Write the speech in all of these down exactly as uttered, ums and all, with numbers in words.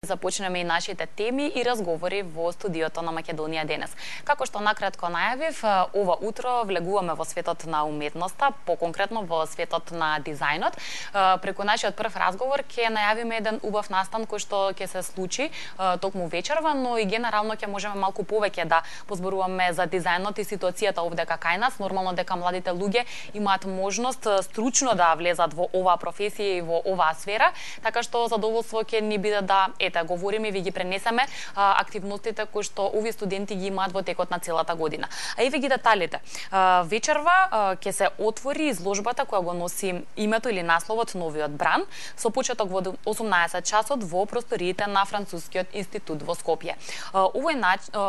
започнеме и нашите теми и разговори во студиото на Македонија денес. Како што накратко најавив, ова утро влегуваме во светот на уметноста, поконкретно во светот на дизајнот. Преку нашиот прв разговор ќе најавиме еден убав настан кој што ќе се случи токму вечерва, но и генерално ќе можеме малку повеќе да позборуваме за дизајнот и ситуацијата овде кај нас. Нормално дека младите луѓе имаат можност стручно да влезат во оваа професија и во оваа сфера, така што задоволство ќе ни биде да ете говориме и ви ги пренесеме а, активностите кои што овие студенти ги имаат во текот на целата година. А еве ги деталите. А, вечерва а, ќе се отвори изложбата која го носи името или насловот Новиот бран со почеток во осумнаесет часот во просториите на Францускиот институт во Скопје. А, овој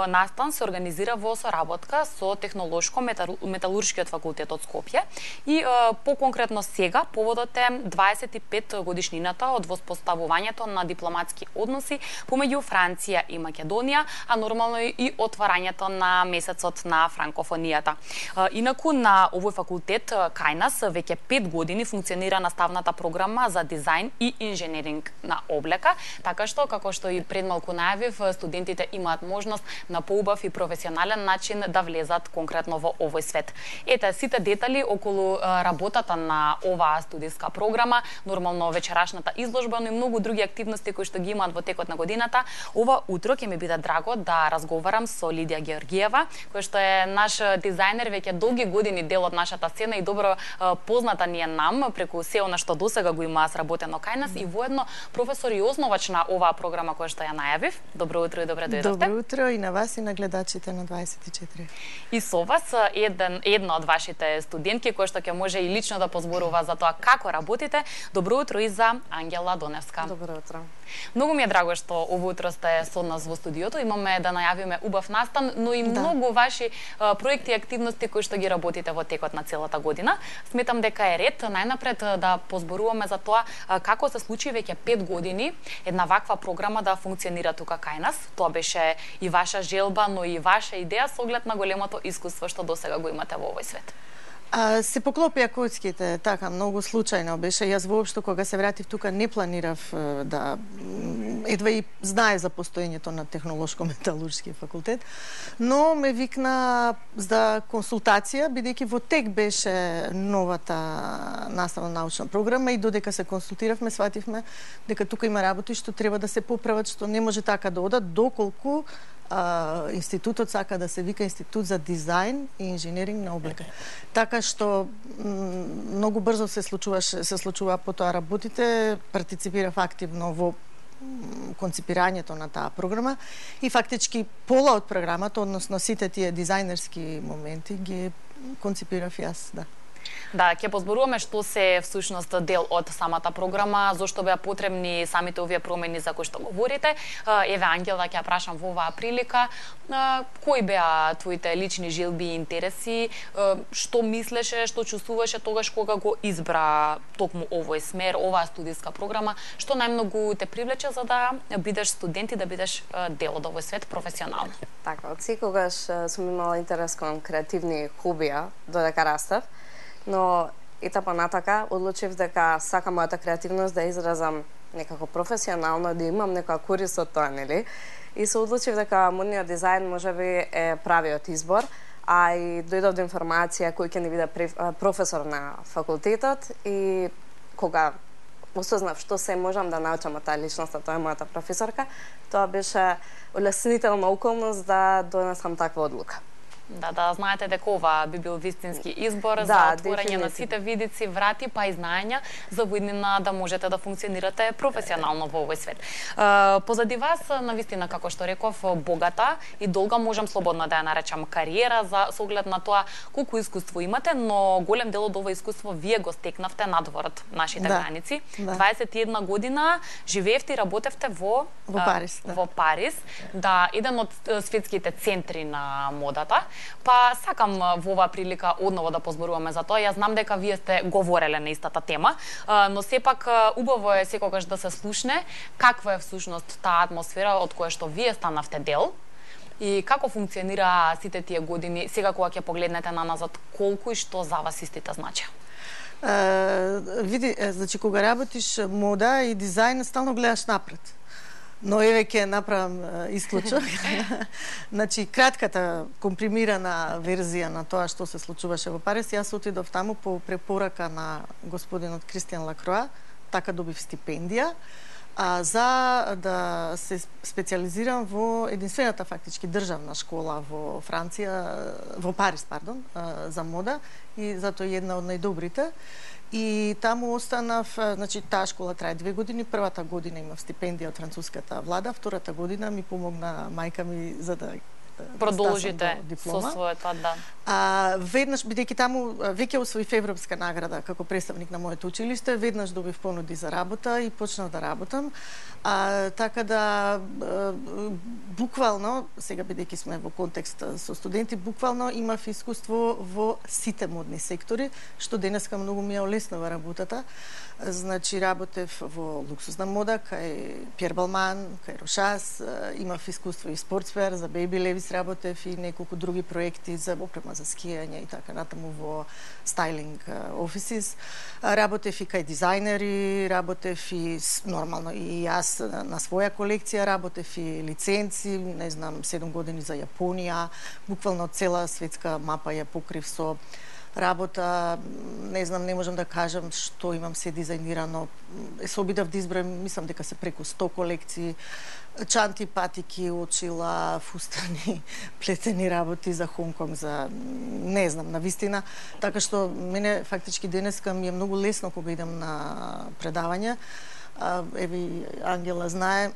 настан се организира во соработка со Технолошко-металуршкиот факултет од Скопје и а, по-конкретно сега поводот е дваесет и пет годишнината од воспоставувањето на дипломатски односи помеѓу Франција и Македонија, а нормално и отварањето на месецот на франкофонијата. Инаку на овој факултет кај нас веќе пет години функционира наставната програма за дизајн и инженеринг на облека, така што како што и пред малку најавив, студентите имаат можност на поубав и професионален начин да влезат конкретно во овој свет. Ете сите детали околу работата на оваа студиска програма, нормално вечерашната изложба, но и многу други активности кои што ги имаат во текот на годината. Ова утро ќе ми биде драго да разговарам со Лидија Георгиева, која што е наш дизајнер веќе долги години, дел од нашата сцена и добро позната ни е нам преку се она што досега го има сработено кај нас и воедно професор и основач на оваа програма која што ја најавив. Добро утро и добре дојдовте. Добро утро и на вас и на гледачите на дваесет и четири. И со вас еден една од вашите студентки која што ќе може и лично да позборува за тоа како работите. Добро утро и за Ангела Доневска. Добро утро. Многу ми е драго што ово утро сте со нас во студиото. Имаме да најавиме убав настан, но и Да. многу ваши а, проекти и активности кои што ги работите во текот на целата година. Сметам дека е ред најнапред да позборуваме за тоа а, како се случи веќе пет години една ваква програма да функционира тука кај нас. Тоа беше и ваша желба, но и ваша идеја со оглед на големото искуство што досега го имате во овој свет. А, се поклопија коцките, така, многу случајно беше. Јас воопшто кога се вратив тука не планирав е, да едва и знае за постоењето на Технолошко-металуршки факултет, но ме викна за консултација, бидејќи во тек беше новата наставна научна програма и додека се консултиравме, свативме дека тука има работи што треба да се поправат, што не може така да одат доколку Uh, институтот сака да се вика Институт за дизајн и инженеринг на облека. Така што многу брзо се случуваше, се случува потоа работите, партиципирав активно во конципирањето на таа програма и фактички пола од програмата, односно сите тие дизајнерски моменти ги конципирав јас, да. Да, ќе позборуваме што се всушност дел од самата програма, зошто беа потребни самите овие промени за кои што говорите. Еве Ангела, ќе ја прашам во оваа прилика, кои беа твоите лични желби и интереси, што мислеше, што чувствуваше тогаш кога го избра токму овој смер, оваа студиска програма, што најмногу те привлече за да бидеш студент и да бидеш дел од овој свет професионално? Така, од секогаш сум имала интерес кон креативни хобија додека растев, но етапа натака одлучив дека сакам мојата креативност да изразам некако професионално, да имам некоја корист од тоа, нели? И се одлучив дека модниот дизајн можеби е правиот избор, а и дојдов до информација кој ќе ни биде професор на факултетот и кога осознав што се можам да научам од таа личност, тоа е мојата професорка, тоа беше улеснителна околност да донесам таква одлука. Да, да знаете дека ова би бил вистински избор Да, за отворање на дефинитивно. сите видици, врати, па и знаења за воиднина да можете да функционирате професионално во овој свет. Е, позади вас, навистина, како што реков, богата и долга, можам слободно да ја наречам кариера, за со оглед на тоа колку искуство имате, но голем дел од ова искуство вие го стекнавте надвор од нашите Да, граници. да. дваесет и една година живеевте и работевте во Во а, Париз, да. Во Париз, да, еден од е, светските центри на модата. Па сакам во оваа прилика одново да позборуваме за тоа. Јас знам дека вие сте говореле на истата тема, но сепак убаво е секогаш да се слушне каква е всушност таа атмосфера од која што вие станавте дел и како функционира сите тие години, сега кога ќе погледнете на назад, колку и што за вас истите значи? Uh, види, значи кога работиш мода и дизајн, стално гледаш напред. Но еве ќе направам исклучок. Значи, кратката, компримирана верзија на тоа што се случуваше во Париз, јас отидов таму по препорака на господинот Кристијан Лакроа, така добив стипендија, а, за да се специализирам во единствената фактички државна школа во Франција, во Париз, пардон, за мода, и затоа една од најдобрите. И таму останав, значи таа школа трае две години, првата година имав стипендија од француската влада, втората година ми помогна мајка ми за да продолжите со своето, да. А веднаш, бидејќи таму веќе освоив европска награда како представник на моето училиште, веднаш добив понуди за работа и почнав да работам. А, така да буквално, сега бидејќи сме во контекст со студенти, буквално имав искуство во сите модни сектори, што денеска многу ми ја олеснува работата. Значи, работев во луксузна мода, кај Пиер Балман, кај Рошас, имав искуство и спортсвер, за Бейби Левис работев и неколку други проекти за опрема за скијање и така натаму во стайлинг офисис. Работев и кај дизајнери, работев и нормално и јас на своја колекција, работев и лиценци, не знам, седум години за Јапонија, буквално цела светска мапа ја покрив со работа, не знам, не можам да кажам што имам се дизајнирано. Се обидов да избројам, мислам дека се преку сто колекции, чанти, патики, очила, фустани, плетени работи за Хонконг, за не знам, на вистина. Така што мене фактички денеска ми е многу лесно кога идам на предавања. Еве Ангела знае,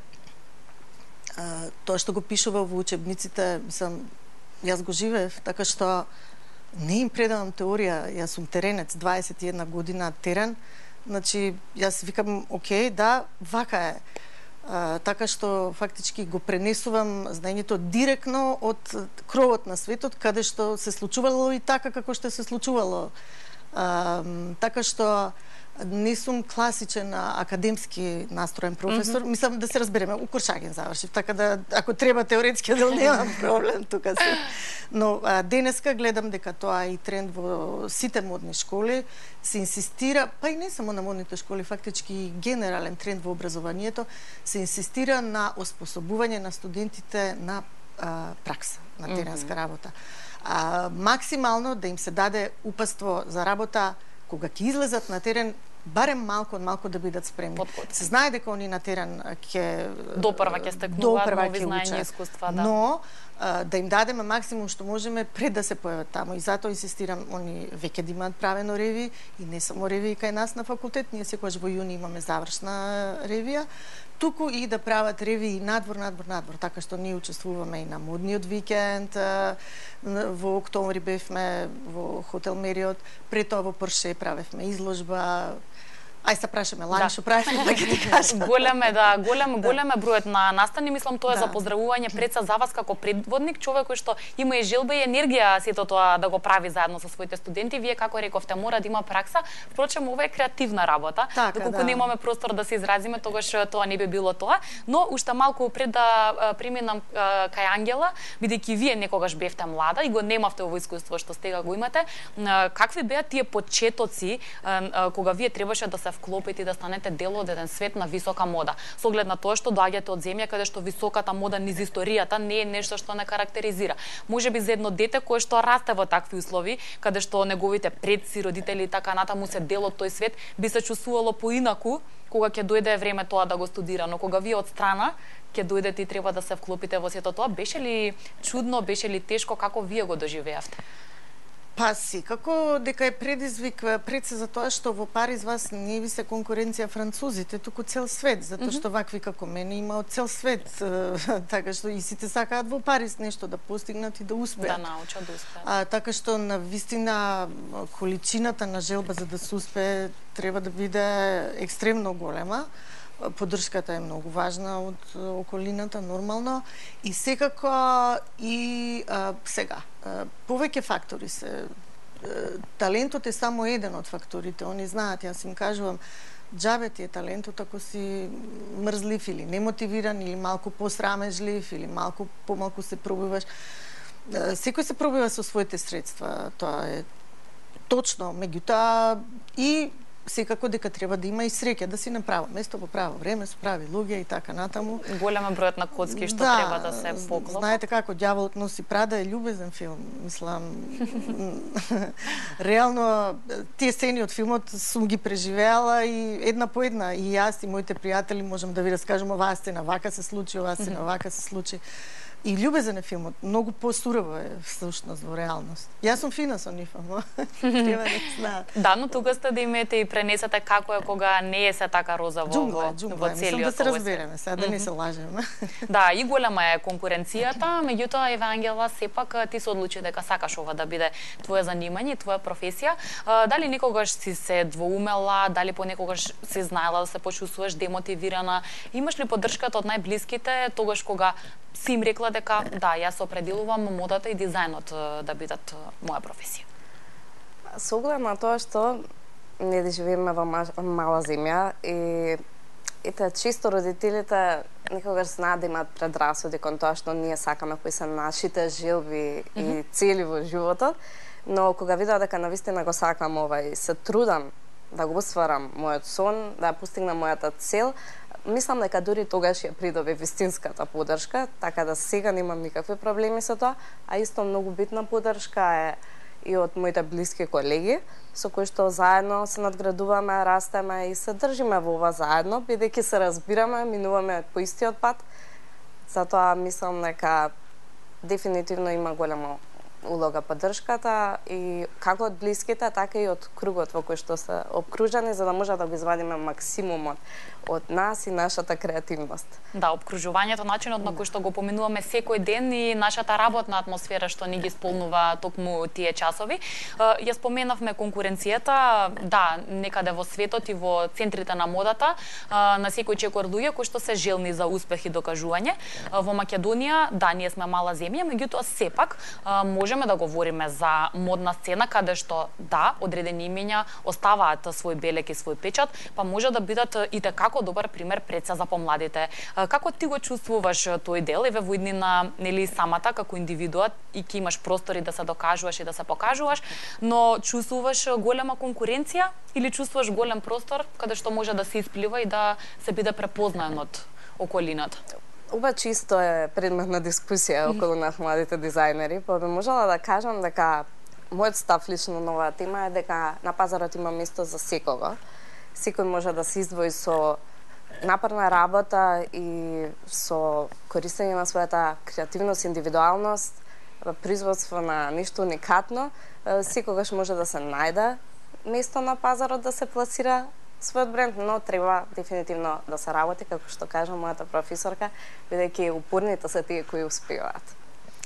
тоа што го пишува во учебниците, мислам, јас го живеев, така што не им предавам теорија, јас сум теренец, дваесет и една година терен, значи јас викам, окей, да, вака е. А, така што фактички го пренесувам знаењето директно од кровот на светот, каде што се случувало и така како што се случувало. А, така што не сум класичен академски настроен професор, mm -hmm. мислам да се разбереме, у Куршаген завршив, така да ако треба теоретски дел немам проблем тука се. Но а, денеска гледам дека тоа е и тренд во сите модни школи, се инсистира, па и не само на модните школи, фактички генерален тренд во образованието, се инсистира на оспособување на студентите на а, пракса, на теренска mm -hmm. работа. А, максимално да им се даде упатство за работа кога ќе излезат на терен, барем малку од малку да бидат спремни. Подготвени. Се знае дека они на терен ќе допрва ќе стекнуваат нови знаења и искуства, да. Но а, да им дадеме максимум што можеме пред да се појават таму. И затоа инсистирам они веќе да имаат правено ревии и не само ревии кај нас на факултет, ние секогаш во јуни имаме завршна ревија, туку и да прават ревии надвор, надвор, надвор, така што ние учествуваме и на модниот викенд, во октомври бевме во хотел Мериот, пред тоа во Порше правевме изложба. Ај се прашаме, лани што правиме, да ќе ти кажам. Голем е, да, голем, голем е бројот на настани, мислам тоа е Да. за поздравување пред се за вас како предводник, човек кој што има и желба и енергија сето тоа да го прави заедно со своите студенти. Вие како рековте мора да има пракса, впрочем ова е креативна работа. Така, Доколку да. немаме простор да се изразиме, тогаш тоа не би било тоа, но уште малку пред да а, преминам а, кај Ангела, бидејќи вие некогаш бевте млада и го немавте ово искуство што сега го имате, а, какви беа тие почетоци а, а, кога вие требаше да се вклопите и да станете дел од еден свет на висока мода. Со оглед на тоа што доаѓате од земја каде што високата мода низ историјата не е нешто што не карактеризира. Можеби за едно дете кое што расте во такви услови, каде што неговите предци, родители и така натаму се дел од тој свет, би се чувствувало поинаку кога ќе дојде време тоа да го студира, но кога вие од страна ќе дојдете и треба да се вклопите во сето тоа, беше ли чудно, беше ли тешко, како вие го доживеавте? Па секако дека е предизвик пред се за тоа што во Париз вас не ви се конкуренција французите, туку цел свет, затоа што вакви како мене има од цел свет, така што и сите сакаат во Париз нешто да постигнат и да успеат. Да научат, да успеат. А, така што на вистина количината на желба за да се успее треба да биде екстремно голема. Поддршката е многу важна од околината, нормално. И секако и а, сега, а, повеќе фактори се. Талентот е само еден од факторите, они знаат, јас им кажувам, џабе ти е талентот ако си мрзлив или немотивиран, или малку посрамежлив, или малку помалку се пробиваш. Секој се пробива со своите средства, тоа е точно, меѓутоа и секако дека треба да има и среќа да си на право место во право време со прави луѓе и така натаму. Голема бројот на коцки што да, треба да се поклопат. Знаете како ѓаволот носи прада е љубезен филм, мислам. Реално тие сцени од филмот сум ги преживеала и една по една и јас и моите пријатели можам да ви раскажам оваа сцена вака се случи, оваа сцена вака се случи. И љубезен е филмот, многу посурово е всушност во реалност. Јас сум фина со нив, ама треба да знаат. Да, но тука сте да имете и пренесете како е кога не е се така розово джунгла, во, джунгла, во целиот мислам да се овој разбереме, сега да не се лажеме. Да, и голема е конкуренцијата, меѓутоа Евангела сепак ти се одлучи дека сакаш ова да биде твое занимање, твоја професија. Дали некогаш си се двоумела, дали понекогаш си знаела да се почувствуваш демотивирана? Имаш ли поддршката од најблиските тогаш кога си им рекла дека да, јас определувам модата и дизајнот да бидат моја професија? Со оглед на тоа што ние да живееме во мала земја и ете чисто родителите некогаш знаат да имаат предрасуди кон тоа што ние сакаме кои се нашите желби mm -hmm. и цели во животот, но кога видов дека навистина го сакам ова и се трудам да го остварам мојот сон, да постигнам мојата цел, мислам дека дури тогаш ја придобив вистинската поддршка, така да сега немам никакви проблеми со тоа, а исто многу битна поддршка е и од моите блиски колеги, со кои што заедно се надградуваме, растеме и се држиме во ова заедно, бидејќи се разбираме, минуваме по истиот пат. Затоа мислам дека дефинитивно има голема улога поддршката и како од блиските, така и од кругот во кој што се обкружени, за да може да го извадиме максимумот од нас и нашата креативност. Да, обкружувањето, начинот на кој што го поминуваме секој ден и нашата работна атмосфера што ни ги сполнува токму тие часови. Ја споменавме конкуренцијата, да, некаде во светот и во центрите на модата, на секој чекор луѓе кои што се желни за успех и докажување. Во Македонија, да, ние сме мала земја, меѓутоа сепак можеме да говориме за модна сцена каде што да, одредени имиња оставаат свој белег и свој печат, па може да бидат и како добар пример пред се за помладите. Како ти го чувствуваш тој дел, еве во иднина, нели самата како индивидуа и ќе имаш простори да се докажуваш и да се покажуваш, но чувствуваш голема конкуренција или чувствуваш голем простор каде што може да се исплива и да се биде препознаен од околината? Ова чисто е предмет на дискусија околу нас младите дизајнери, па би можела да кажам дека мојот став лично на оваа тема е дека на пазарот има место за секого. Секој може да се издвои со напорна работа и со користење на својата креативност, индивидуалност, производство на нешто уникатно, секогаш може да се најде место на пазарот да се пласира својот бренд, но треба дефинитивно да се работи, како што кажа мојата професорка, бидејќи упорните се тие кои успеваат.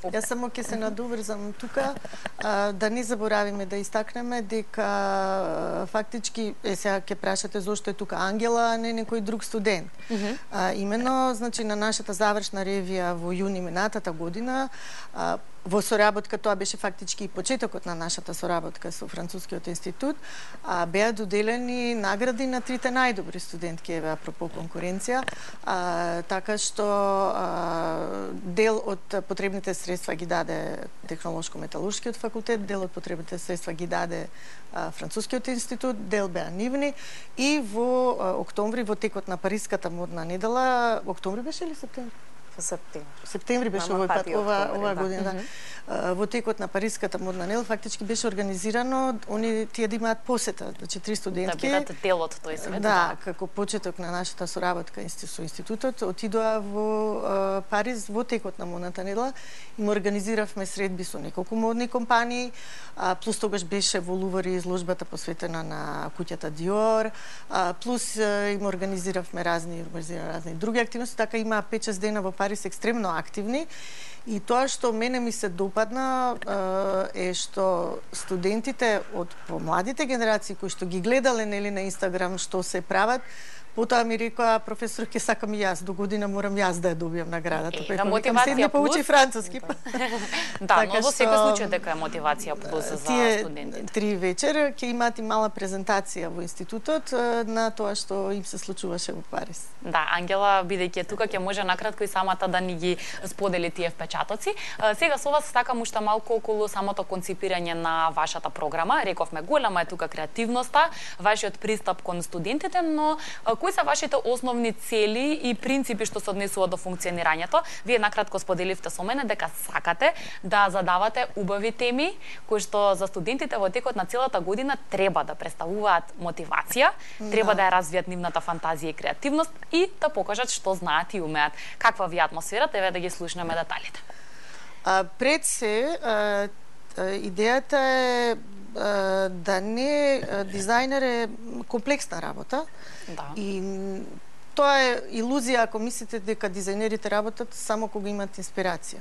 Јас само ќе се надоврзам тука, а, да не заборавиме да истакнеме дека а, фактички, е сега ќе прашате зошто е тука Ангела, а не некој друг студент. Mm -hmm. а, имено, значи, на нашата завршна ревија во јуни минатата година, а, во соработка, тоа беше фактички и почетокот на нашата соработка со Францускиот институт, а, беа доделени награди на трите најдобри студентки, еве апропо конкуренција, а, така што а, дел од потребните средства ги даде Технолошко-металуршкиот факултет, дел од потребните средства ги даде а, Францускиот институт, дел беа нивни и во а, октомври, во текот на Париската модна недела, октомври беше или септември? Септември. Септември беше овој пат, ова, ова година, да. Mm -hmm. Во текот на Париската модна недела фактички беше организирано они тие да имаат посета, значи три студентки. Да бидат дел од тој свет. Да, да, како почеток на нашата соработка со институтот, отидоа во uh, Париз во текот на модната недела и му организиравме средби со неколку модни компании, а, плюс тогаш беше во Лувари изложбата посветена на куќата Диор, а, плюс а, им организиравме разни, организира разни други активности, така има пет-шест дена во Париз екстремно активни. И тоа што мене ми се допадна е што студентите од помладите генерации кои што ги гледале нели на Инстаграм што се прават, Потоа ми рекоа професор, ќе сакам и јас, до година морам јас да ја добијам наградата. Е, мотивација седне поучи француски. Да, но во секој случај дека е мотивација плюс за студентите. Три вечер ќе имаат и мала презентација во институтот на тоа што им се случуваше во Париз. Да, Ангела, бидејќи тука ќе може накратко и самата да ни ги сподели тие впечатоци. Сега со вас сакам уште малку околу самото конципирање на вашата програма. Рековме, голема е тука креативноста, вашиот пристап кон студентите, но кои се вашите основни цели и принципи што се однесуваат до функционирањето? Вие накратко споделивте со мене дека сакате да задавате убави теми кои што за студентите во текот на целата година треба да представуваат мотивација, да. треба да ја развијат нивната фантазија и креативност и да покажат што знаат и умеат. Каква ви атмосфера, еве да ги слушнеме деталите. А, пред се, а, идејата е а, да не дизајнер е комплексна работа. Да. И тоа е илузија ако мислите дека дизајнерите работат само кога имат инспирација.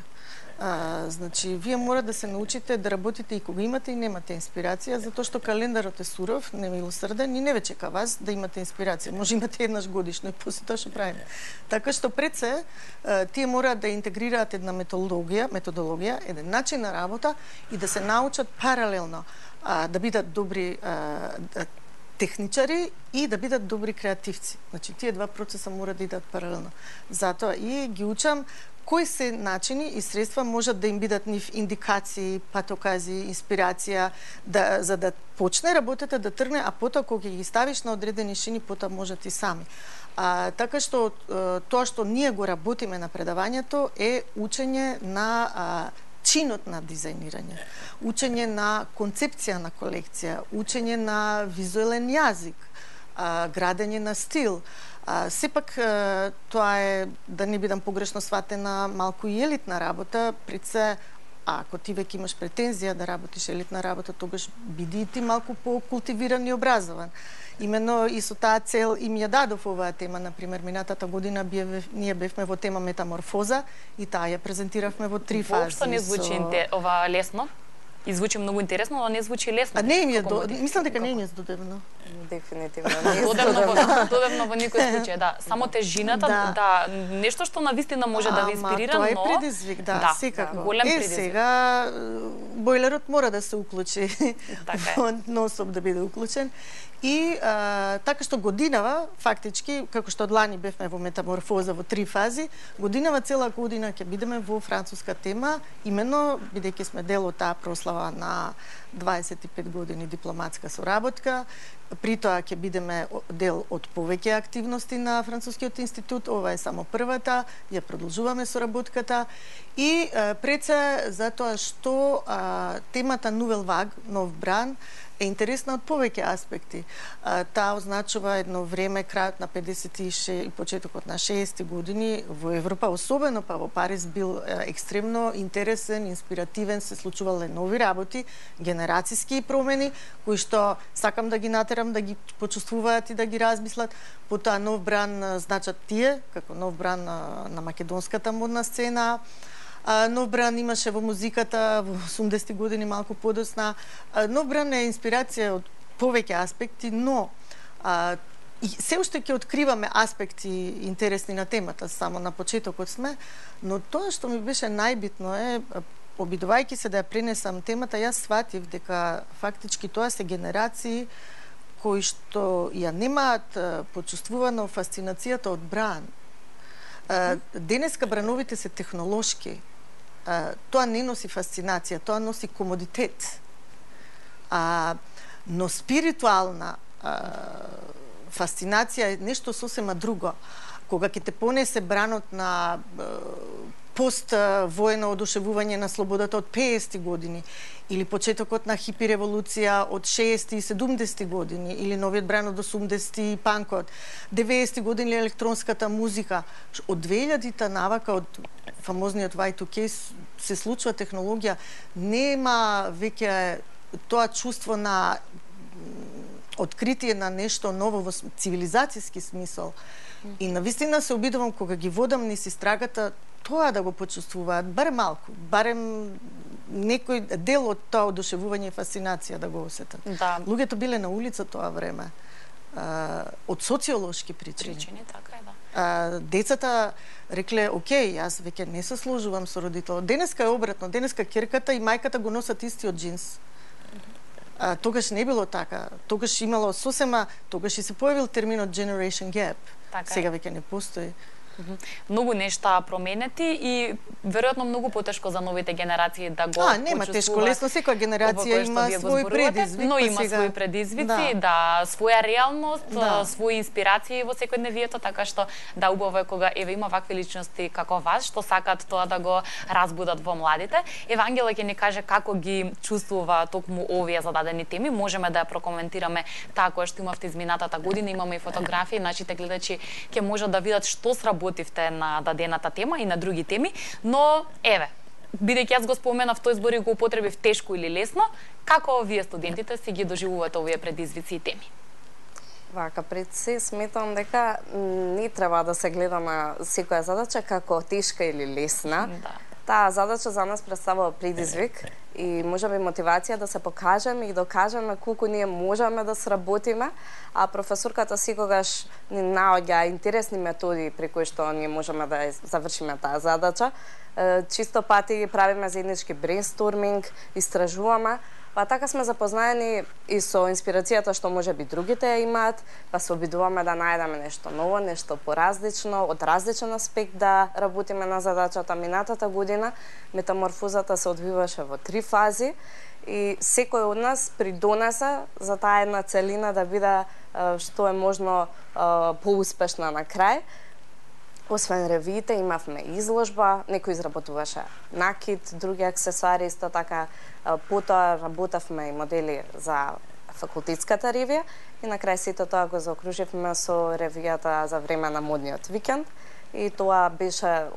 А, значи, вие мора да се научите да работите и кога имате и немате инспирација, затоа што календарот е суров, немилосрден и не ве чека вас да имате инспирација. Може имате еднаш годишно и после тоа што правиме. Така што пред се, тие мораат да интегрираат една методологија, методологија, еден начин на работа и да се научат паралелно а, да бидат добри а, техничари и да бидат добри креативци. Значи, тие два процеса мора да идат паралелно. Затоа и ги учам кои се начини и средства можат да им бидат нив индикации, патокази, инспирација, да, за да почне работата да тргне, а потоа кога ги ставиш на одредени шини, потоа можат и сами. А, така што тоа што ние го работиме на предавањето е учење на а, чинот на дизајнирање, учење на концепција на колекција, учење на визуелен јазик, а, градење на стил. А, сепак тоа е, да не бидам погрешно сватена, малку и елитна работа, пред се, а ако ти веќе имаш претензија да работиш елитна работа, тогаш биди и ти малку по-култивиран и образован. Имено и со таа цел им ја дадов оваа тема, например, минатата година бие, ние бевме во тема метаморфоза и таа ја презентиравме во три фази. Воопшто не звучи со... ова лесно. И звучи многу интересно, но не звучи лесно. А не им е до... мислам дека не им е здодевно. Дефинитивно не е додевно во, додевно во никој случај, да. Само тежината, да, да нешто што навистина може да ви инспирира, но... Ама тоа е предизвик, да, да секако. Да, голем е, предизвик. сега бойлерот мора да се уклучи, така нон-стоп да биде уклучен. И а, така што годинава, фактички, како што од лани бевме во метаморфоза во три фази, годинава цела година ќе бидеме во француска тема, именно бидејќи сме дел од таа прослава на дваесет и пет години дипломатска соработка. При тоа ќе бидеме дел од повеќе активности на Францускиот институт, ова е само првата, ја продолжуваме соработката и а, пред се затоа што а, темата Nouvelle Vague, нов бран, е интересна од повеќе аспекти. А, таа означува едно време, крајот на педесет и шест и почетокот на шеесетти години во Европа, особено па во Париз бил е, екстремно интересен, инспиративен, се случувале нови работи, генерацијски промени, кои што сакам да ги натерам да ги почувствуваат и да ги размислат. Потоа нов бран значат тие, како нов бран на, на македонската модна сцена. А, нов бран имаше во музиката во осумдесетти години малку подосна. А, нов бран е инспирација од повеќе аспекти, но а, и се уште ќе откриваме аспекти интересни на темата, само на почетокот сме, но тоа што ми беше најбитно е, обидувајќи се да ја пренесам темата, јас сватив дека фактички тоа се генерации кои што ја немаат почувствувано фасцинацијата од бран. А, денеска брановите се технолошки. Uh, тоа не носи фасцинација, тоа носи комодитет. Uh, но спиритуална uh, фасцинација е нешто сосема друго. Кога ќе те понесе бранот на uh, пост-воено одушевување на слободата од петдесетти години, или почетокот на хипи револуција од шеесетти и седумдесетти години, или новиот бран од осумдесетти и панкот, деветдесетти години електронската музика. Од две илјадите навака, од фамозниот вај ту кеј се случува технологија, нема веќе тоа чувство на откритие на нешто ново во цивилизацијски смисол. И навистина се обидувам кога ги водам низ истрагата тоа да го почувствуваат, барем малку, барем некој дел од тоа одушевување и фасцинација да го осетат. Да. Луѓето биле на улица тоа време. од социолошки причини. Причини, така е, да. А, децата рекле, окей, јас веќе не се сложувам со родител. Денеска е обратно, денеска ќерката и мајката го носат истиот джинс. А, тогаш не било така. Тогаш имало сосема, тогаш и се појавил терминот generation gap. Така Сега е. веќе не постои. Многу нешта променети и веројатно многу потешко за новите генерации да го А, нема тешко, лесно, секоја генерација има свој предизвик, но па има сега... своји предизвици, да, да своја реалност, да, своји инспирации во секојдневието, така што да убаво е кога еве има вакви личности како вас што сакаат тоа да го разбудат во младите. Ева Ангела ќе ни каже како ги чувствува токму овие зададени теми, можеме да ја прокоментираме таа која што имавте изминатата година, имаме и фотографии, нашите гледачи ќе можат да видат што сработивте на дадената тема и на други теми, но еве, бидејќи јас го споменав тој збор и го употребив тешко или лесно, како вие студентите си ги доживувате овие предизвици и теми? Вака, пред се сметам дека не треба да се гледа на секоја задача како тешка или лесна. Да. Таа задача за нас представува предизвик и можеби мотивација да се покажеме и докажеме колку ние можеме да сработиме, а професорката секогаш ни наоѓа интересни методи при кои што ние можеме да завршиме таа задача. Чисто пати правиме заеднички брейнсторминг, истражуваме, па така сме запознаени и со инспирацијата што можеби другите ја имаат, па се обидуваме да најдеме нешто ново, нешто поразлично, од различен аспект да работиме на задачата. Минатата година метаморфозата се одвиваше во три фази и секој од нас придонесе за таа една целина да биде што е можно поуспешна на крај. Освен ревиите, имавме изложба, некој изработуваше накид, други аксесуари, исто така потоа работевме и модели за факултетската ревија и на крај сето тоа го заокруживме со ревијата за време на модниот викенд и тоа беше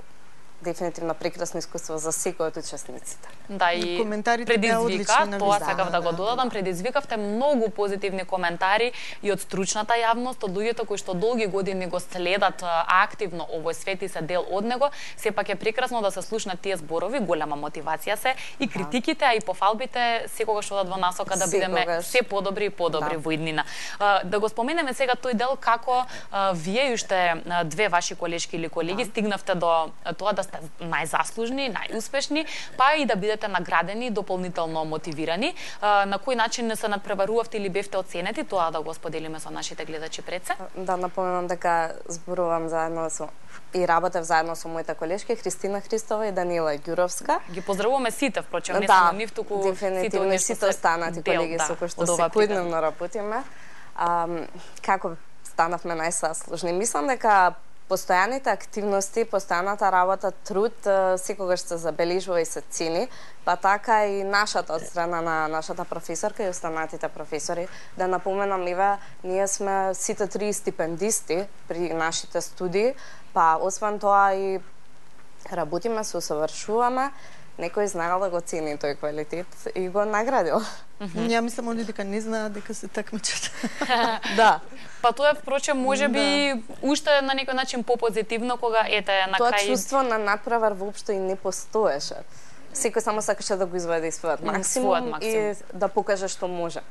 дефинитивно прекрасно искуство за секој од учесниците. Да, и коментарите беа предизвика, одлични на тоа вистина, сакав да го да, додадам, да. предизвикавте многу позитивни коментари и од стручната јавност, од луѓето кои што долги години го следат активно овој свет и се дел од него. Сепак е прекрасно да се слушнат тие зборови, голема мотивација се и критиките, а и пофалбите секогаш одат во насока да бидеме Секогаш. се подобри и подобри Да. во иднина. Да го споменеме сега тој дел како вие и уште две ваши колешки или колеги стигнавте до тоа да сте најзаслужни, најуспешни, па и да бидете наградени, дополнително мотивирани. На кој начин се надпреварувавте или бевте оценети, тоа да го споделиме со нашите гледачи пред се? Да напоменам дека зборувам заедно со и работев заедно со моите колешки Христина Христова и Данила Ѓуровска. Ги поздравуваме сите, впрочем, не Да, само нив, туку дефинитивно сите и сите останати колеги со кои што секојдневно работиме. А, како станавме најзаслужни? Мислам дека постојаните активности, постојаната работа, труд секогаш се забележува и се цени, па така и нашата од страна на нашата професорка и останатите професори. Да напоменам, Ива, ние сме сите три стипендисти при нашите студии, па освен тоа и работиме, се усовршуваме, некој знаел да го цени тој квалитет и го наградил. Ја мислам они дека не знаат дека се такмичат. Да. Па тоа е, впрочем, може би уште на некој начин попозитивно кога ете на Тоа крај чувство на надпревар воопшто и не постоеше. Секој само сакаше да го изведе и својот максимум, својот максимум. и да покаже што може.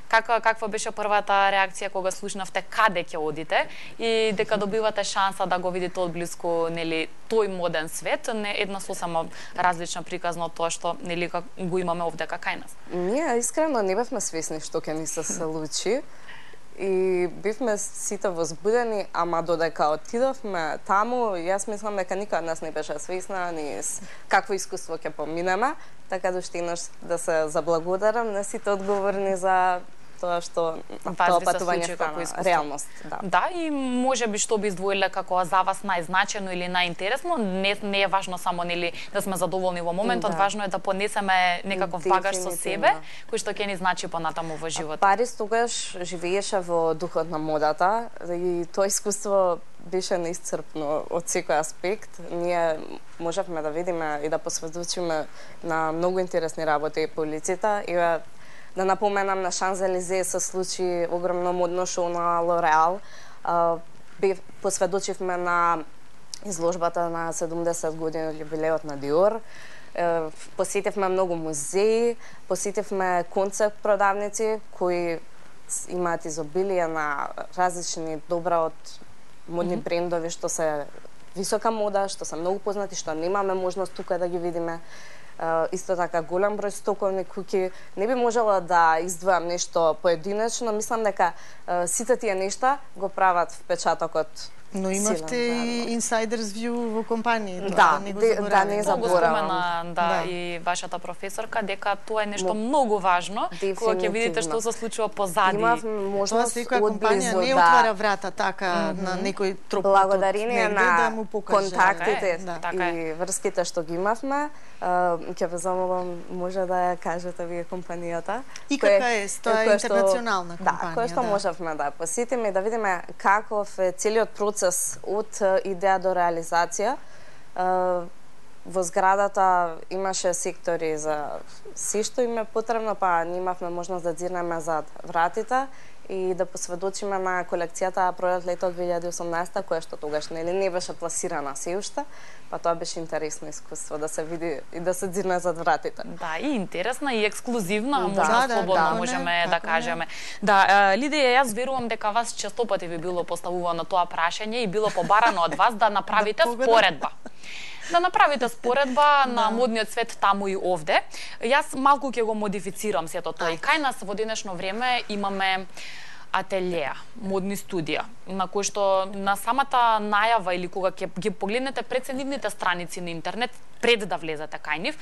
Каква каква беше првата реакција кога слушнавте каде ќе одите и дека добивате шанса да го видите одблиску, нели, тој моден свет, не една сосема различна приказна од тоа што нели го имаме овде кај нас. Ние искрено не бевме свесни што ќе ни се случи и бевме сите возбудени, ама додека отидовме таму, јас мислам дека никој од нас не беше свесна ни с какво искуство ќе поминеме, така да уште еднаш да се заблагодарам на сите одговорни за тоа што тоа патување стана реалност. Да. Да, и може би што би издвоиле како за вас најзначено или најинтересно, не, не е важно само нели да сме задоволни во моментот, Да. важно е да понесеме некаков багаж со себе, кој што ќе ни значи понатаму во животот. Парис тогаш живееше во духот на модата и тоа искуство беше неисцрпно од секој аспект. Ние можевме да видиме и да посведочиме на многу интересни работи по улиците и да напоменам на Шанзелизе се случи огромно модно шоу на Лореал. Посведочивме на изложбата на седумдесет години од јубилеот на Диор. Посетивме многу музеи, посетивме концепт продавници кои имаат изобилие на различни добра од модни mm -hmm. брендови што се висока мода, што се многу познати, што немаме можност тука да ги видиме. Uh, исто така голем број стоковни куќи. Не би можела да издвојам нешто поединечно, мислам дека uh, сите тие нешта го прават впечатокот. Но имавте и инсайдерс вју во компанијата, да, не го де, забораваме. Да, не заборавам. Да, да, и вашата професорка дека тоа е нешто Мо... многу важно, кога ќе видите што се случува позади. Имав можност од компанија не да... отвара врата така mm -hmm. на некој тропот. Благодарение на да му покаже контактите да. така и врските што ги имавме, ќе ве замолам може да ја кажете вие компанијата. И кака е, тоа е интернационална компанија. Да, кој што да. можевме да посетиме и да видиме каков е целиот процес од идеја до реализација. Во зградата имаше сектори за се што им е потребно, па имавме можност да дзирнеме зад вратите и да посведочиме на колекцијата пролет лето две илјади и осумнаесета, која што тогаш нели не беше пласирана се уште, па тоа беше интересно искуство да се види и да се дзирне зад вратите. Да, и интересна и ексклузивна, да, може да, слободно да, можеме не, да кажеме. Не. Да, Лидија, јас верувам дека вас често пати ви било поставувано тоа прашање и било побарано од вас да направите да споредба. Да направите споредба на модниот свет таму и овде. Јас малку ќе го модифицирам сето тоа. И кај нас во денешно време имаме ателјеа, модни студија, на кои што на самата најава или кога ќе ги погледнете преценивните страници на интернет, пред да влезете кај нив,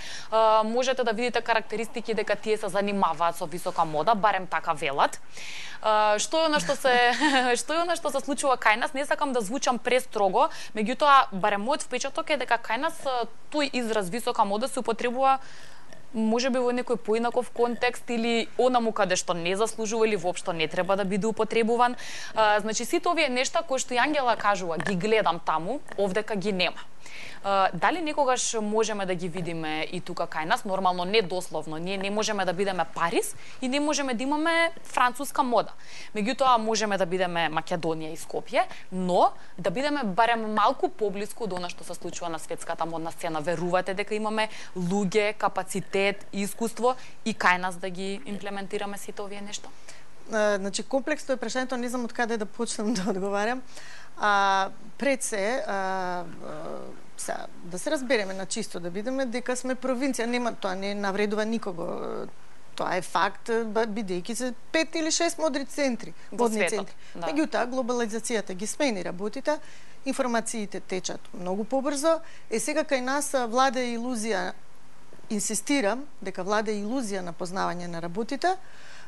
можете да видите карактеристики дека тие се занимаваат со висока мода, барем така велат. Што е она што се што е она што се случува кај нас, не сакам да звучам престрого, меѓутоа барем мојот впечаток е дека кај нас тој израз висока мода се употребува може би во некој поинаков контекст или онаму каде што не заслужува или воопшто не треба да биде употребуван. А, значи сите овие нешта кои што Ангела кажува, ги гледам таму, овдека ги нема. Uh, дали некогаш можеме да ги видиме и тука кај нас, нормално не дословно, ние не можеме да бидеме Париз и не можеме да имаме француска мода. Меѓутоа можеме да бидеме Македонија и Скопје, но да бидеме барем малку поблиску до она што се случува на светската модна сцена. Верувате дека имаме луѓе, капацитет, искуство и кај нас да ги имплементираме сите овие нешта? Uh, значи комплексно е прашањето, не знам од каде да почнам да одговарам. А, пред се, а, а, са, да се разбереме на чисто, да видиме дека сме провинција, нема, тоа не навредува никого. Тоа е факт, бидејќи се пет или шест модри центри, модни центри. Да. Меѓутоа, глобализацијата ги смени работите, информациите течат многу побрзо, е сега кај нас влада илузија, инсистирам дека влада илузија на познавање на работите,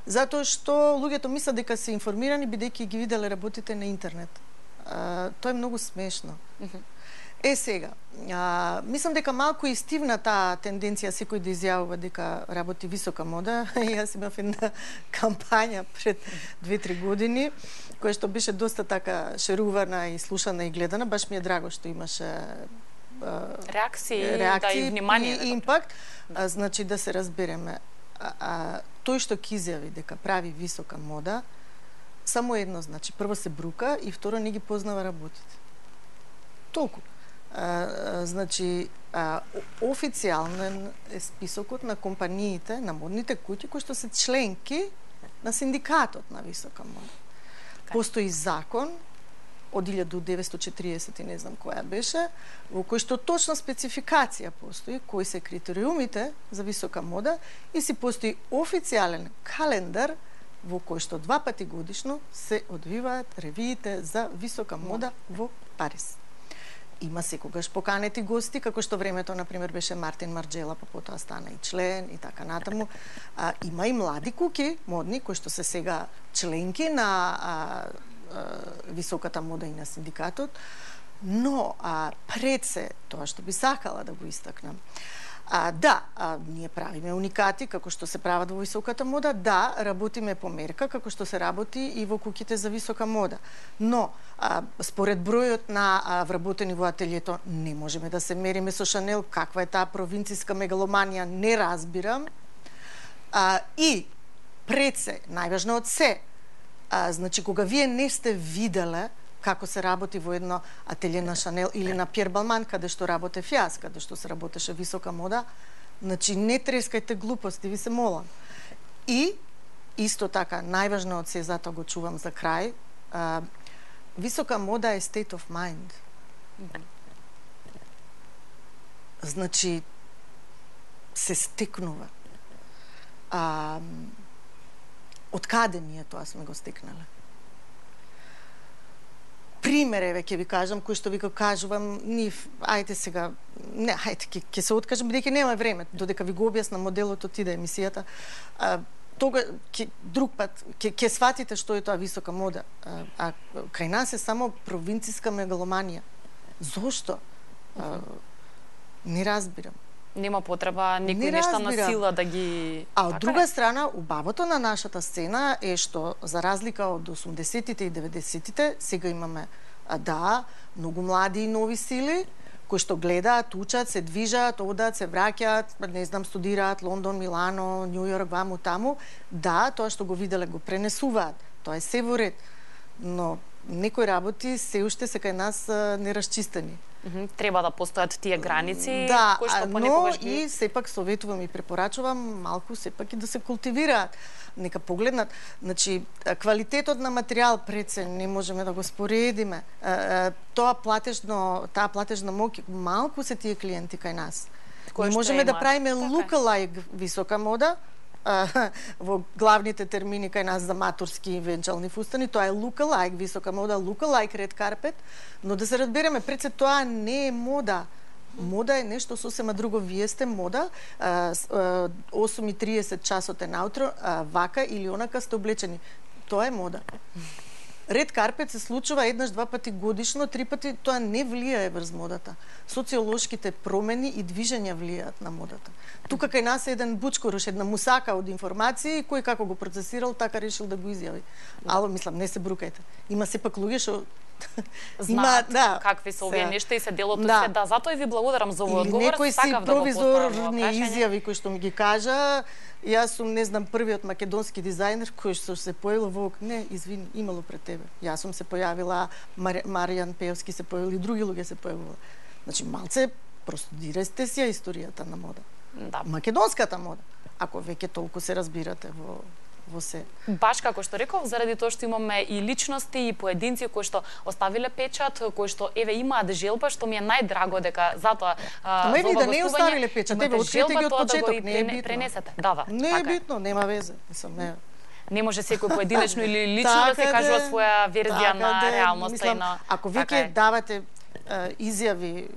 затоа што луѓето мислат дека се информирани бидејќи ги виделе работите на интернет. А, тоа е многу смешно. Uh -huh. Е сега, а, мислам дека малку и стивна таа тенденција секој да изјавува дека работи висока мода. Јас имав една кампања пред две-три години, која што беше доста така шерувана и слушана и гледана. Баш ми е драго што имаше реакции, реакции да и внимание и импакт. А, значи да се разбереме, а, а, тој што ќе изјави дека прави висока мода, само едно, значи, прво се брука и второ не ги познава работите. Толку. А, а, значи, а, официјален е списокот на компаниите, на модните куќи, кои што се членки на синдикатот на висока мода. Okay. Постои закон од илјада деветстотини и четиридесета и не знам која беше, во кој што точна спецификација постои, кои се критериумите за висока мода и си постои официјален календар во кој што два пати годишно се одвиваат ревиите за висока мода во Париз. Има секогаш поканети гости, како што времето, например, беше Мартин Марджела, па потоа стана и член и така натаму. А, има и млади куки модни, кои што се сега членки на а, а, високата мода и на синдикатот, но а, пред се, тоа што би сакала да го истакнам, А, да, а, ние правиме уникати, како што се прават во високата мода, да, работиме по мерка, како што се работи и во куќите за висока мода. Но, а, според бројот на а, вработени во ателјето, не можеме да се мериме со Шанел, каква е таа провинцијска мегаломанија, не разбирам. А, и, пред се, најважно од се, а, значи, кога вие не сте виделе како се работи во едно ателје на Шанел или на Пјер Балман, каде што работев јас, каде што се работеше висока мода, значи не трескајте глупости, ви се молам. И исто така, најважно од се, затоа го чувам за крај, а, висока мода е state of mind. Значи, се стекнува. А, од каде ние тоа сме го стекнале? Пример, еве, ќе ви кажам, кој што ви го кажувам, нив, ајде сега, не, ајде, ќе, ќе се откажам, бидејќи нема време, додека ви го објасна моделот отиде емисијата, а, тога, ке, друг пат, ќе, ќе сватите што е тоа висока мода, а, а кај нас е само провинциска мегаломанија. Зошто? А, не разбирам. Нема потреба некои нешта на сила да ги... А од друга страна, убавото на нашата сцена е што, за разлика од осумдесетите и деветдесетите, сега имаме, а, да, многу млади и нови сили, кои што гледаат, учат, се движат, одат, се враќаат, не знам, студираат Лондон, Милано, Њу Јорк, ваму, таму. Да, тоа што го виделе го пренесуваат. Тоа е се во ред. Но некои работи се уште се кај нас а, нерасчистени. Mm-hmm. Треба да постојат тие граници, да, кои што но понекогаш ги... и сепак советувам и препорачувам малку сепак и да се култивираат. Нека погледнат, значи квалитетот на материјал пред се не можеме да го споредиме. Тоа платежно, таа платежна моќ, малку се тие клиенти кај нас. Кој не можеме да правиме лука-лайк висока мода, во главните термини кај нас за маторски и венчални фустани, тоа е лука-лайк висока мода, лука-лайк ред карпет, но да се разбереме, пред се тоа не е мода. Мода е нешто сосема друго. Вие сте мода, осум и триесет часот е наутро, вака или онака сте облечени. Тоа е мода. Ред карпет се случува еднаш, два пати годишно, три пати, тоа не влијае врз модата. Социолошките промени и движења влијаат на модата. Тука кај нас е еден бучкоруш, една мусака од информации, кој како го процесирал, така решил да го изјави. Ало, мислам, не се брукајте. Има сепак луѓе што знаат да, какви се овие нешта и се делот од да. Свет. Да, затоа и ви благодарам за овој одговор. Некој си провизорни изјави кои што ми ги кажа, јас сум, не знам, првиот македонски дизајнер кој што се појавил во... Не, извини, имало пред тебе. Јас сум се појавила, Мар... Маријан Пеевски се појавил и други луѓе се појавила. Значи, малце простудирате си ја историјата на мода. Да. Македонската мода. Ако веќе толку се разбирате во во се. Баш како што реков, заради тоа што имаме и личности и поединци кои што оставиле печат, кои што еве имаат желба, што ми е најдраго дека затоа Ама еве да не оставиле печат, еве открите ги од почеток, да не е битно. Пренесете. Да, да. Не е битно, нема везе. Мислам, не. Не може секој поединечно или лично да се кажува своја верзија на реалноста и на... Ако веќе давате изјави,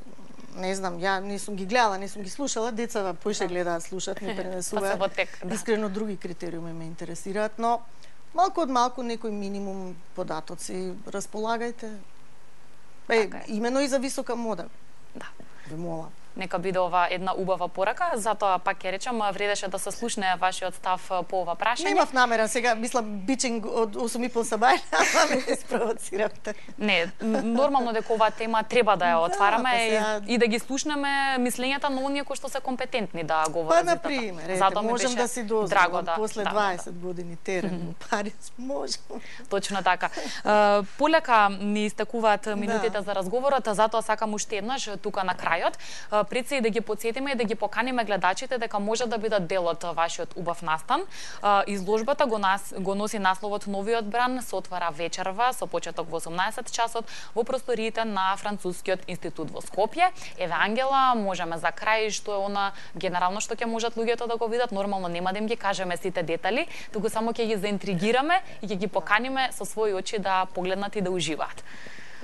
не знам, ја не сум ги гледала, не сум ги слушала, децата поише гледаат, слушаат, не пренесуваат. Да. Искрено други критериуми ме интересираат, но малку од малку некој минимум податоци располагајте. Е, така е. Имено и за висока мода. Да. Ве молам. Нека биде ова една убава порака, затоа пак ќе речам, вредеше да се слушне вашиот став по ова прашање. Немав намера сега, мислам, бичинг од осум и пол сабај, ама ме спровоциравте. Не, нормално дека оваа тема треба да ја отвараме да, сега... и, и да ги слушнеме мислењата на оние кои што се компетентни да говорат. Па, на пример, ете, можем да си дозволам, да, после дваесет да, години терен во да. Париз, можем. Точно така. Полека ни истекуваат минутите да. За разговорот, затоа сакам уште еднаш тука на крајот пред се и да ги потсетиме и да ги поканиме гледачите дека може да бидат дел од вашиот убав настан. Изложбата го, нас, го носи насловот Новиот бран, се отвара вечерва со почеток во осумнаесет часот во просториите на Францускиот институт во Скопје. Еве Ангела, можеме за крај што е она генерално што ќе можат луѓето да го видат, нормално нема да им ги кажеме сите детали, туку само ќе ги заинтригираме и ќе ги поканиме со своји очи да погледнат и да уживаат.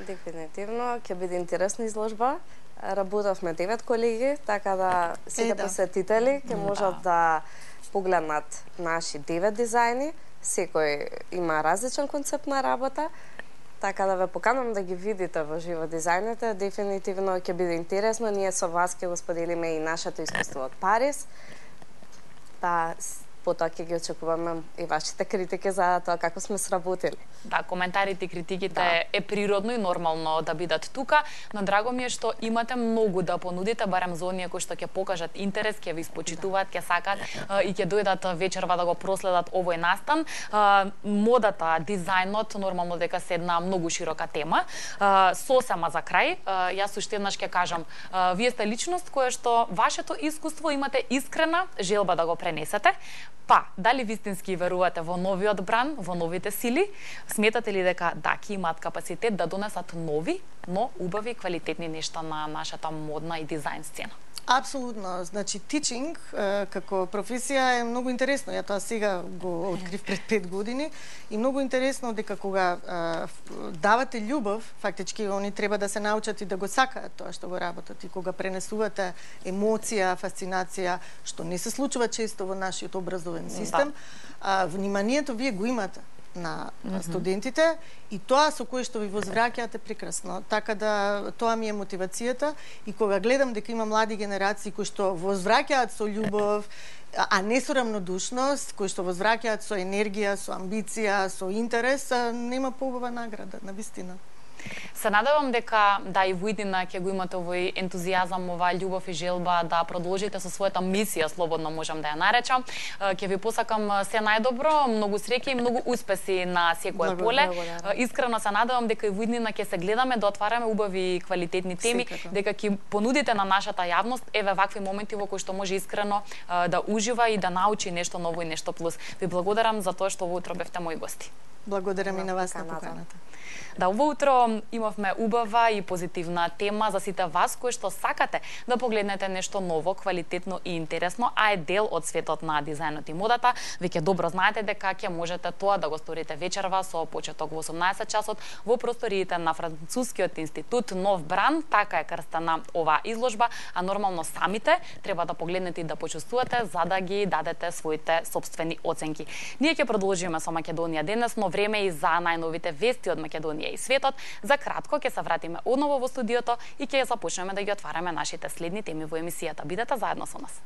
Дефинитивно ќе биде интересна изложба. Работевме девет колеги, така да сите е, да. Посетители ќе можат да. Да погледнат наши девет дизајни. Секој има различен концепт на работа, така да ве поканам да ги видите во живо дизајните. Дефинитивно ќе биде интересно. Ние со вас ќе го споделиме и нашето искуство од Париз. Па потоа ќе ги очекуваме и вашите критики за тоа како сме сработили. Да, коментарите и критиките да. Е природно и нормално да бидат тука, но драго ми е што имате многу да понудите, барем за оние кои што ќе покажат интерес, ќе ви испочитуваат, ќе сакат и ќе дојдат вечерва да го проследат овој настан. Модата, дизајнот, нормално дека се една многу широка тема. Сосема за крај, јас уште еднаш ќе кажам, вие сте личност која што вашето искуство имате искрена желба да го пренесете. Па, дали вистински верувате во новиот бран, во новите сили? Сметате ли дека даки имаат капацитет да донесат нови, но убави квалитетни нешта на нашата модна и дизајн сцена? Апсолутно. Значи, тичинг како професија е многу интересно. Ја тоа сега го открив пред пет години и многу интересно дека кога а, давате љубов, фактички они треба да се научат и да го сакаат тоа што го работат. И кога пренесувате емоција, фасцинација, што не се случува често во нашиот образовен систем, да. а, вниманието вие го имате на mm-hmm. студентите и тоа со кое што ви возвраќаат е прекрасно. Така да тоа ми е мотивацијата и кога гледам дека има млади генерации кои што возвраќаат со љубов, а не со рамнодушност, кои што возвраќаат со енергија, со амбиција, со интерес, нема поубава награда, навистина. Се надевам дека да и во иднина ќе го имате овој ентузијазам, оваа љубов и желба да продолжите со својата мисија, слободно можам да ја наречам. Ќе ви посакам се најдобро, многу среќа и многу успеси на секое поле. Искрено се надевам дека и во иднина ќе се гледаме да отвараме убави и квалитетни теми, дека ќе понудите на нашата јавност еве вакви моменти во кои што може искрено да ужива и да научи нешто ново и нешто плюс. Ви благодарам за тоа што во утро бевте мои гости. Благодарам и на вас на поканата. Да, ово утро имавме убава и позитивна тема за сите вас кои што сакате да погледнете нешто ново, квалитетно и интересно, а е дел од светот на дизајнот и модата. Веќе добро знаете дека ќе можете тоа да го сторите вечерва со почеток во осумнаесет часот во просториите на Францускиот институт Нов Бран. Така е крстена оваа изложба, а нормално самите треба да погледнете и да почувствувате за да ги дадете своите сопствени оценки. Ние ќе продолжиме со Македонија денес, но време и за најновите вести од Македонија и светот. За кратко ќе се вратиме одново во студиото и ќе започнеме да ги отвараме нашите следни теми во емисијата. Бидете заедно со нас.